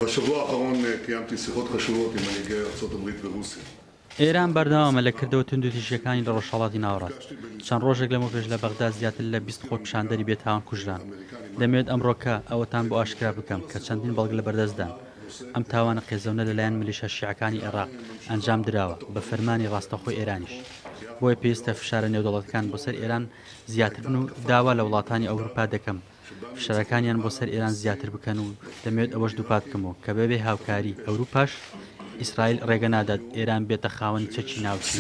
בשבוע האחרון קיימתי שיחות חשובות עם מנהיגי ארצות הברית ורוסיה. ئێران بەردەوامە لە کردەوە توندوتیژییەکانی لە ڕۆژهەڵاتی ناوەڕاست. چەند ڕۆژێک لەمەوپێش لە بەغدا زیاتر لە 20 خۆپیشاندەری بێتاوان کوژران. دەمەوێت ئەمڕۆکە ئەوەتان بۆ ئاشکرا بکەم کە چەندین بەڵگە لەبەردەستدان ئەم تاوانە قێزەونە لەلایەن میلیشیا شیعەکانی عێراق ئەنجام دراوە بە فەرمانی ڕاستەوخۆی ئێرانیش. بۆیە پێویستە فشارە نێودەوڵەتەکان بۆ سەر ئێران زیاتر بن و داوا لە وڵاتانی ئەوروپا دەکەم فشارەکانیان بۆ سەر ئێران زیاتر بکەن و دەمەوێت ئەوەش دووپات بکەمەوە کە بەبێ هاوکاری ئەوروپاش ئیسرائیل ڕێگە نادات ئێران بێتە خاوەنی چەکی ناوکی.